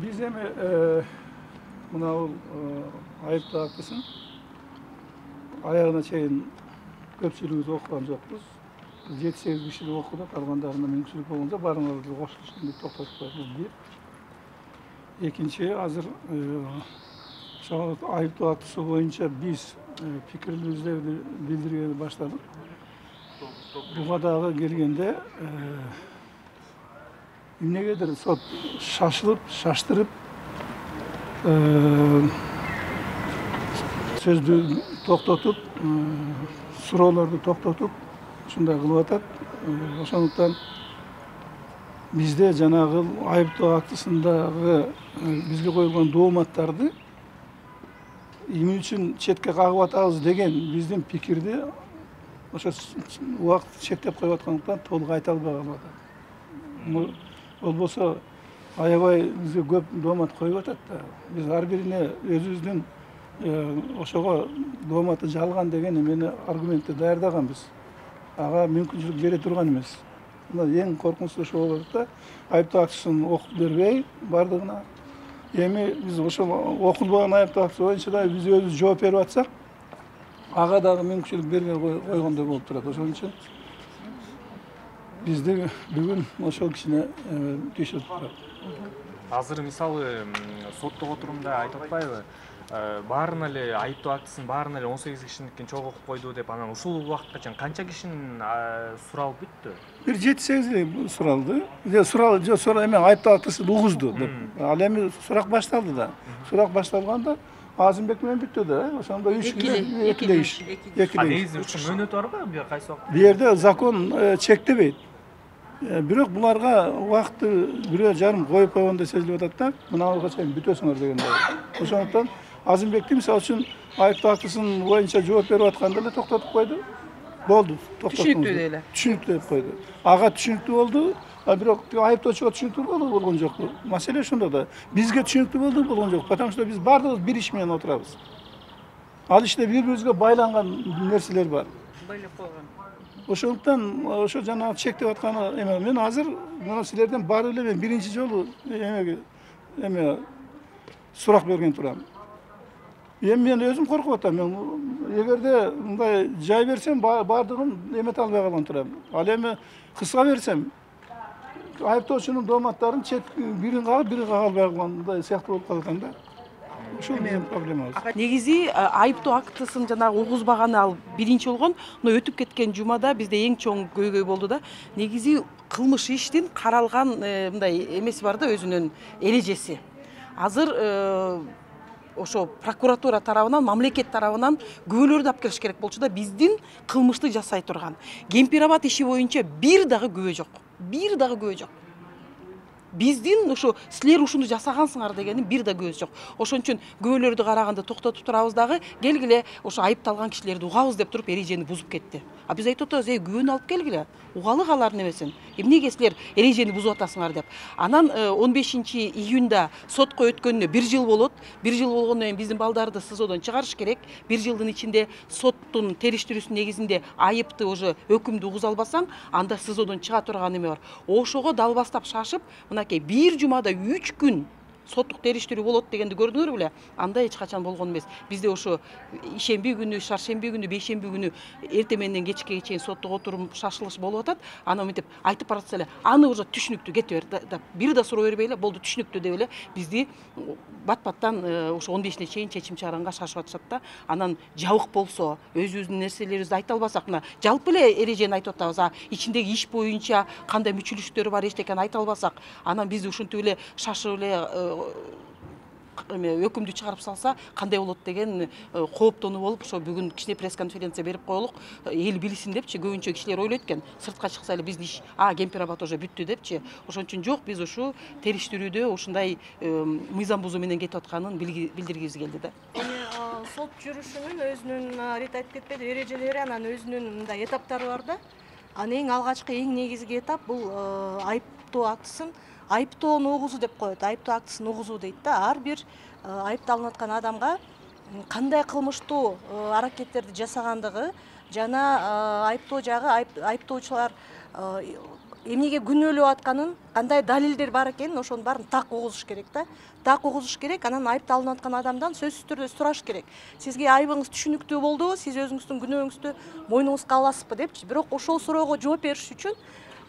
Биз эми мына бул айыптоо актысын аягына чейин көпчүлүгүбүз окуган жокпуз. 7-8 киши окуду, калгандарына мүмкүнчүлүк болгондо баарыңарды кошулушун деп токтотуп койду. Бир. Экинчи, азыр ошол айыптоо актысы боюнча биз пикирибизди билдиргени баштадык. Буга дагы келгенде эмнегедир сот шаштырып сөздү токтотуп, суроолорду токтотуп, ушундай кылып атат. Ошондуктан бизде жанагы айыптоо актысындагы бизге коюлган дооматтарды эмне үчүн четке кагып атабыз деген биздин пикирди ошо убакыт чектеп коюп аткандыктан толук айта албай калып атат. Болбосо аябай бизге көп доомат коюп атат да. Биз ар бирине өзүбүздүн ошого дооматы жалган деген эмени аргументти даярдаганбыз. Ага мүмкүнчүлүк бере турган эмес. Мына эң коркунучтуу ошо болуп атат да. Айыптоо актысын окуп бербей бардыгына. Эми биз ошол окулбаган айыптоо актысы боюнча да биз өзүбүз жооп берип атсак, ага дагы мүмкүнчүлүк бербей койгондой болуп турат. Ошон үчүн бизди бүгүн ошол кичине түйшүп турат. Азыр мисалы соттук отурумда айтып атпайбы? Баарына эле айыптоо актысын баарына эле 18 кишиникин чогуу окуп койду деп, анан ушул убакытка чейин канча кишинин суралып бүттү? Бир 7-8 эле суралды. Сурал эме айыптоо актысын угузду деп. Ал эми сурак башталды да. Сурак башталганда Азымбек менен бүттү да. Ошондо 3 экиле иш. Негизи мөөнөтү барбы? Бир кайсы убакта? Бу жерде закон чектебейт. Бирок буларга убакытты 1,5 жарым коюп койгондой сезилип атат да. Мынага чейин бүтөсүңөр дегендей. Ошондуктан Азымбекти мисалы үчүн айыптоо актысын боюнча жооп берип атканда эле токтотуп койду. Болду, токтотуңуз. Түшүнүктүү эле. Түшүнүктүү деп койду. Ага түшүнүктүү болду, бирок айыптоочуга түшүнүктүү болгон жок. Маселе ошондо да. Бизге түшүнүктүү болду, болгон жок. Потому что биз баардыгыбыз бир иш менен отурабыз. Ал иште бири-бирибизге байланган нерселер бар. Байлап койгон. Ошондуктан ошо жанагы чектеп атканы эме мен азыр мына силерден барып эле мен биринчи жолу эме сурак берген турам. Эми мен өзүм коркуп атам. Мен эгерде мындай жай берсем баардыгын эмете албай калган турам. Ал эми кыска берсем айыптоочунун дооматтарын бирин кагып, бирин кага албай калгандай сыяктуу болуп калат да. Ушул менин проблемабыз. Негизи айыптоо актысын жанагы угузбаганы ал биринчи болгон, но өтүп кеткен жумада бизде эң чоң көйгөй болду да. Негизи кылмыш иштин каралган мындай эмеси бар да, өзүнүн эрежеси. Азыр ошо прокуратура тарабынан, мамлекет тарабынан күбөлөрдү алып келиш керек болчу да, биздин кылмышты жасай турган. Кемпирабад иши боюнча бир дагы күбө жок. Бир дагы күбө жок. Биздин ошо силер ушуну жасагансыңар дегенин бир да көз жок. Ошон үчүн күбөлөрдү караганда токтотуп турабыз дагы, келгиле ошо айыпталган кишилерди угабыз деп туруп эрежени бузуп кетти. А биз айтып атабыз, күбөнү алып келгиле. Угалы алардын эмесин. Эмнеге силер эрежени бузуп атасыңар деп. Анан 15-июнда сотко өткөнүнө 1 жыл болот. 1 жыл болгондон кийин биздин балдарды СИЗОдон чыгарыш керек. 1 жылдын ичинде соттун териштирүүсүнүн негизинде айыпты уже өкүмдү угуза албасаң, анда СИЗОдон чыга турган эме бар. Ошого дал бастап шашып, мынакей бир жумада 3 күн соттук териштирүү болот дегенди көрдүңөр беле? Анда эч качан болгон эмес. Бизде ошо ишемби күнү, шаршемби күнү, бейшемби күнү эртең менен кечке чейин соттук отурум шашылыш болуп атат. Аны мынтип айтып баратса эле, аны уже түшүнүктүү кете бер да, бир да суроо бербей эле, болду түшүнүктүү деп эле бизди бат-баттан ошо 15-ине чейин чечим чыгаранга шашып атышат да. Анан жабык болсо, өзүбүздүн нерселерибизди айта албасак, мына жалпы эле эрежени айтып атабыз, ичиндеги иш боюнча кандай мүчүлүштөр бар, эчтекени айта албасак, анан бизди ушинтип эле шашып эле өкүмдү чыгарып салса кандай болот деген кооптонуу болуп, ошо бүгүн кичине пресс-конференция берип коелук, эл билсин депчи. Көбүнчө кишилер ойлойт экен, сыртка чыкса эле биздин иш Кемпирабад уже бүттү депчи. Ошон үчүн жок, биз ушу териштирүүдө ушундай мыйзам бузуу менен кетип атканын билдиргибиз келди да. Сот жүрүшүнүн өзүнүн Рита айтып кетпеди, эрежелери, анан өзүнүн мындай этаптары бар да. Анын эң алгачкы, эң негизги этап бул айыптоо актысын айыптоону угузуу деп коет. Айыптоо актысын угузуу дейт да. Ар бир айыпталынып аткан адамга кандай кылмыштуу аракеттерди жасагандыгы жана айыптоо жагы айыптоочулар эмнеге күнөөлөп атканын, кандай далилдер бар экенин ошонун баарын так угузуш керек да. Так угузуш керек, анан айыпталынып аткан адамдан сөзсүз түрдө сураш керек. Сизге айыбыңыз түшүнүктүү болдубу? Сиз өзүңүздүн күнөөңүздү мойнуңузга аласызбы депчи. Бирок ошол суроого жооп бериш үчүн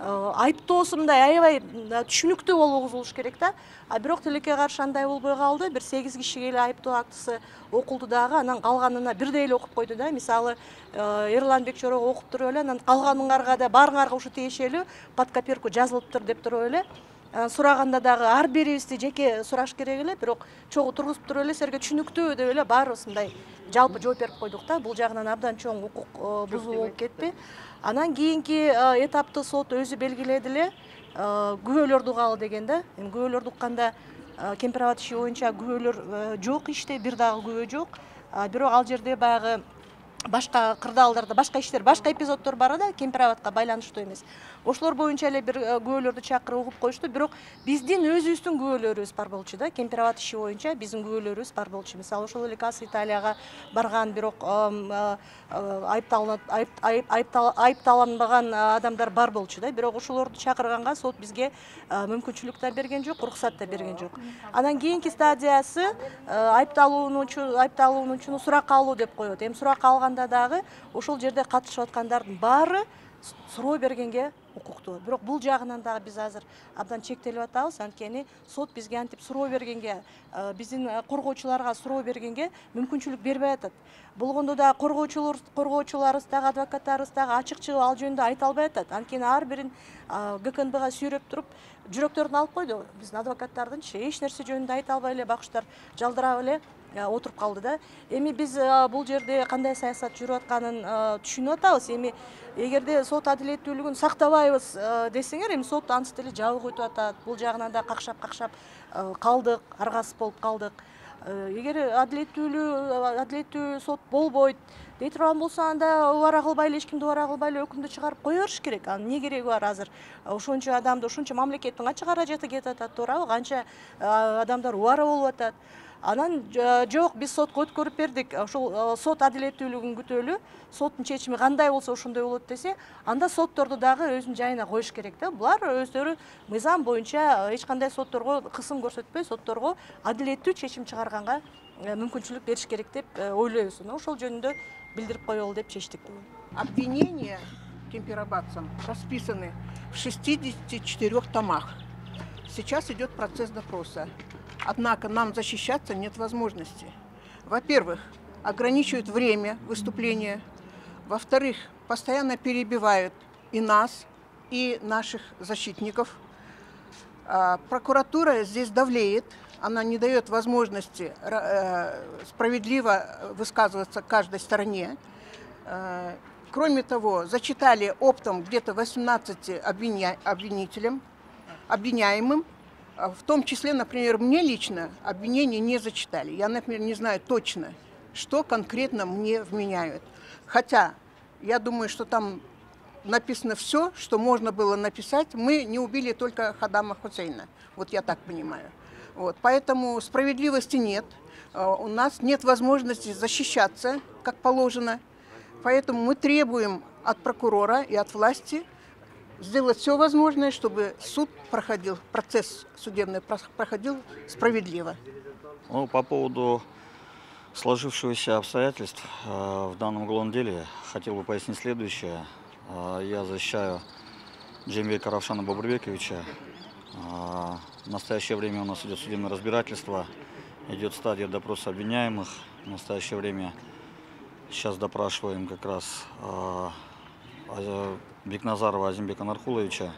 айыптоосу мындай аябай түшүнүктүү болуп угузулуш керек да. Бирок тилекке каршы андай болбой калды. Бир 8 кишиге эле айыптоо актысы окулду дагы, анан калганына бирдей эле окуп койду да. Мисалы, Эрланбек Чорого окуп туруп эле, анан калганыңарга да баарыңарга ушу тиешелүү под копирку жазылыптыр деп туруп эле. Сураганда дагы ар бирибизди жеке сураш керек эле, бирок чогуу тургузуп туруп эле силерге түшүнүктүү деп эле баарыбыз мындай жалпы жооп берип койдук да. Бул жагынан абдан чоң укук бузуу болуп кетти. Анан кийинки этапты сот өзү белгиледи эле, күбөлөрдү угалы деген да. Эми күбөлөрдү укканда Кемпирабад иши боюнча күбөлөр жок иште, бир дагы күбө жок. Бирок ал жерде баягы башка кырдаалдарда башка иштер, башка эпизоддор бар да, Кемпирабадка байланыштуу эмес. Ошолор боюнча эле бир күбөлөрдү чакырып угуп коюшту, бирок биздин өзүбүздүн күбөлөрүбүз бар болчу да. Кемпирабад иши боюнча биздин күбөлөрүбүз бар болчу. Мисалы, ошол эле Кас Италияга барган, бирок айыпталынбаган адамдар бар болчу да. Бирок ошолорду чакырганга сот бизге мүмкүнчүлүк да берген жок, уруксат да берген жок. Анан кийинки стадиясы айыпталуучуну суракка алуу деп коет. Эми суракка алганда дагы ошол жерде катышып аткандардын баары суроо бергенге укуктуу. Бирок бул жагынан дагы биз азыр абдан чектелип атабыз, анткени сот бизге антип суроо бергенге, биздин коргоочуларга суроо бергенге мүмкүнчүлүк бербей атат. Болгондо да коргоочуларыбыз дагы, адвокаттарыбыз дагы ачык-чыгып ал жөнүндө айта албай атат. Анткени ар бирин ГКНБга сүйрөп туруп жүрөктөрүн алып койду. Биздин адвокаттардынчы эч нерсе жөнүндө айта албай эле, бакчтар жалдырап эле отуруп калды да. Эми биз бул жерде кандай саясат жүрүп атканын түшүнүп атабыз. Эми эгерде сот адилеттүүлүгүн сактабайбыз десеңер, эми сот ансыз деле жабык өтүп атат. Бул жагынан да какшап калдык, аргасыз болуп калдык. Эгер адилеттүү сот болбойт дей турган болсо, анда убара кылбай эле, эч кимди убара кылбай эле өкүмдү чыгарып кое бериш керек. Анын эмне кереги бар азыр? Ошончо адамды, ошончо мамлекеттин канча каражаты кетип атат, туурабы? Канча адамдар убара болуп атат. Анан жок, биз сотко өткөрүп бердик. Ошол сот адилеттүүлүгүн күтөлү. Соттун чечими кандай болсо ошондой болот десе, анда сотторду дагы өзүнүн жайына коюш керек да. Булар өздөрү мыйзам боюнча эч кандай сотторго кысым көрсөтпөй, сотторго адилеттүү чечим чыгарганга мүмкүнчүлүк бериш керек деп ойлойбуз. Ошол жөнүндө билдирип коелу деп чечтик. Обвинения кемпирабадцам расписаны в 64 томах. Сейчас идет процесс допроса. Однако нам защищаться нет возможности. Во-первых, ограничивают время выступления. Во-вторых, постоянно перебивают и нас, и наших защитников. Прокуратура здесь давлеет. Она не дает возможности справедливо высказываться каждой стороне. Кроме того, зачитали оптом где-то 18 обвиняемым. В том числе, например, мне лично обвинения не зачитали. Я, например, не знаю точно, что конкретно мне вменяют. Хотя я думаю, что там написано все, что можно было написать. Мы не убили только Хаддама Хусейна. Вот я так понимаю. Вот. Поэтому справедливости нет. У нас нет возможности защищаться, как положено. Поэтому мы требуем от прокурора и от власти сделать все возможное, чтобы суд проходил, процесс судебный проходил справедливо. Ну, по поводу сложившихся обстоятельств в данном уголовном деле хотел бы пояснить следующее. Я защищаю Джембека Равшана Бабурбековича. В настоящее время у нас идет судебное разбирательство, идет стадия допроса обвиняемых. В настоящее время сейчас допрашиваем как раз Бекназарова Азимбека Нархуловича.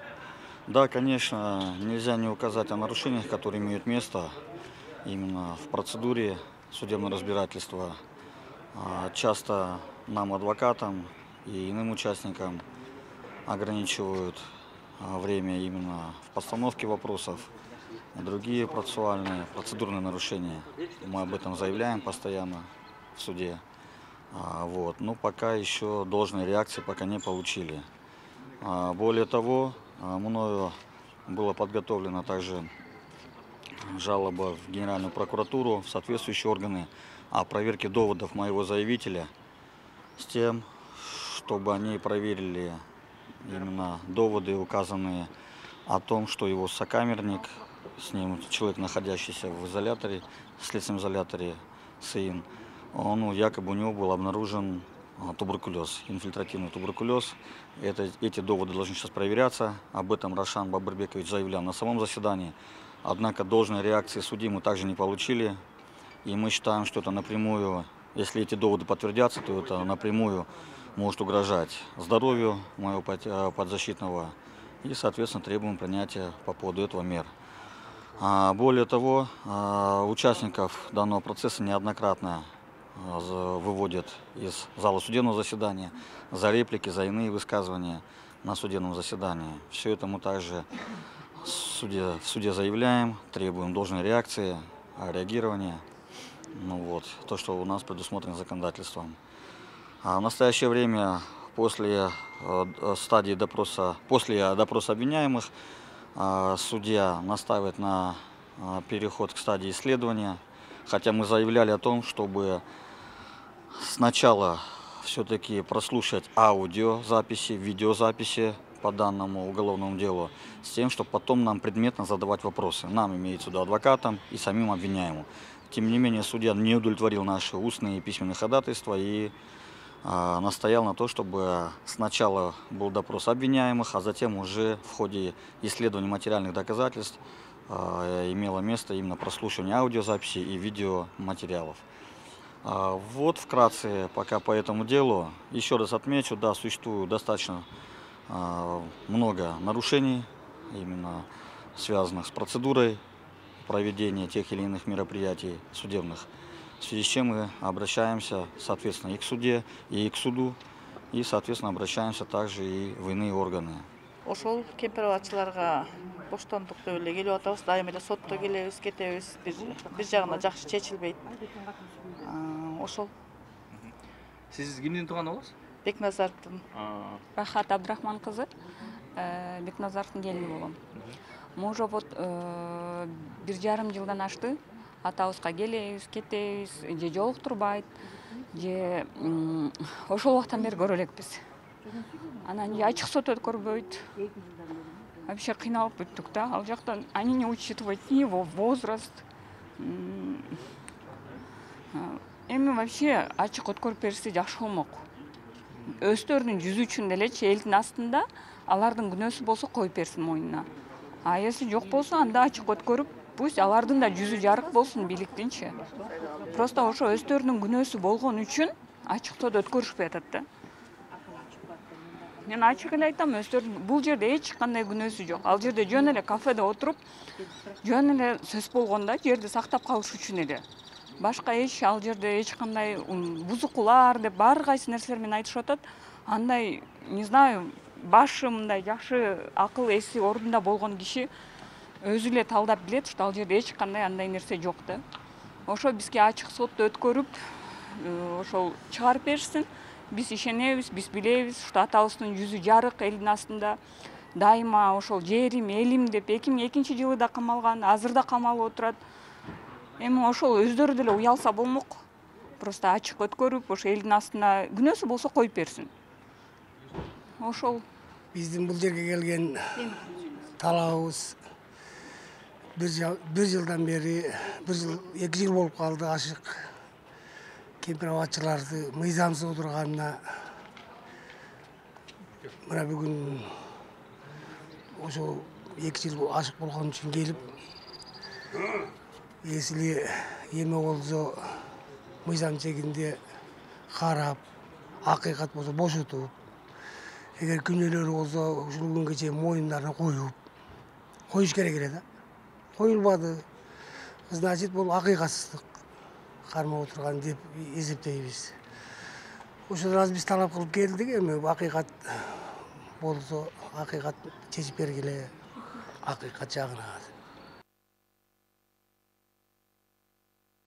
Да, конечно, нельзя не указать о нарушениях, которые имеют место именно в процедуре судебного разбирательства. Часто нам, адвокатам и иным участникам, ограничивают время именно в постановке вопросов, другие процедурные нарушения. Мы об этом заявляем постоянно в суде. Вот. Но пока еще должной реакции пока не получили. Более того, мною была подготовлена также жалоба в Генеральную прокуратуру, в соответствующие органы о проверке доводов моего заявителя с тем, чтобы они проверили именно доводы указанные о том, что его сокамерник, с ним человек, находящийся в изоляторе, в следственном изоляторе СИИН, он якобы у него был обнаружен туберкулез, инфильтративный туберкулез. Эти доводы должны сейчас проверяться. Об этом Рошан Бабырбекович заявлял на самом заседании. Однако должной реакции судьи мы также не получили. И мы считаем, что это напрямую, если эти доводы подтвердятся, то это напрямую может угрожать здоровью моего подзащитного. И, соответственно, требуем принятия по поводу этого мер. Более того, участников данного процесса неоднократно выводят из зала судебного заседания за реплики, за иные высказывания на судебном заседании. Все это мы также в суде заявляем, требуем должной реакции, реагирования. То, что у нас предусмотрено законодательством. В настоящее время, после допроса обвиняемых, судья настаивает на переход к стадии исследования, хотя мы заявляли о том, чтобы сначала все-таки прослушать аудиозаписи, видеозаписи по данному уголовному делу, с тем, чтобы потом нам предметно задавать вопросы. Нам, имеется в виду адвокатам и самим обвиняемым. Тем не менее, судья не удовлетворил наши устные и письменные ходатайства и настоял на то, чтобы сначала был допрос обвиняемых, а затем уже в ходе исследования материальных доказательств имело место именно прослушивание аудиозаписи и видеоматериалов. Вот вкратце пока по этому делу. Еще раз отмечу, да, существует достаточно много нарушений, именно связанных с процедурой проведения тех или иных мероприятий судебных, в связи с чем мы обращаемся, соответственно, и к суде, и к суду, и, соответственно, обращаемся также и в иные органы. Ошол кемпирабатчыларга боштондук деп эле келип атабыз, дайыма эле сотто келебиз, кетебиз, бир жагына жакшы чечилбейт. Ошол. Сиз кимдин тууганы болосуз? Бекназаровдун. Рахат Абдрахман кызы, Бекназаровдун келини болгом. Мы уже вот 1,5 жылдан ашты. Атабызга келебиз, кетебиз, же жолуктурбайт, же ошол убактан бери көрө элекпиз. Анан ачык сот өткөрбөйт. Вообще кыйналып бүттүк да. Ал жактан они не учитывают ни его возраст. Эми вообще ачык өткөрүп берсе жакшы болмок. Өздөрүнүн жүзү үчүн делечи элдин астында алардын күнөөсү болсо коюп берсин мойнуна. А если жок болсо анда ачык өткөрүп, пусть алардын да жүзү жарык болсун бийликтинчи. Просто ошо өздөрүнүн күнөөсү болгон үчүн ачыктоодо өткөрүшпөй атат да. Мен ачык эле айтам, өздөрүнүн бул жерде эч кандай күнөөсү жок. Ал жерде жөн эле кафеде отуруп, жөн эле сөз болгондо жерди сактап калыш үчүн эле. Башка ал жерде эч кандай бузукулар деп баары кайсы нерселер менен айтышып атат. Андай, не знаю, башы мындай жакшы акыл эси ордунда болгон киши өзү эле талдап билет, что ал жерде эч кандай андай нерсе жок да. Ошо бизге ачык сотто өткөрүп, ошол чыгарып беришсин. Биз ишенебиз, биз билебиз, что атабыздын жүзү жарык элдин астында. Дайыма ошол жерим, элим деп 2002 да камалган, азыр да камалып отурат. Эми ошол өздөрү деле уялса болмок. Просто ачык өткөрүп, ошо элдин астында күнөөсү болсо коюп берсин. Ошол. Биздин бул жерге келген талабыбыз бир жылдан бери, 2 жыл болуп калды ашык кемпирабатчыларды мыйзамсыз отурганына. Мына бүгүн ошо 2 жыл ашык болгон үчүн келип, если эме болсо мыйзам чегинде карап, акыйкат болсо бошотуп, эгер күнөөлөрү болсо ушул күнгө чейин моюндарына коюш керек эле да. Коюлбады. Значит, бул акыйкатсыздык кармап отурган деп эсептейбиз. Ошол раз биз талап кылып келдик, эми акыйкат болсо акыйкат чечип бергиле, акыйкат жагына.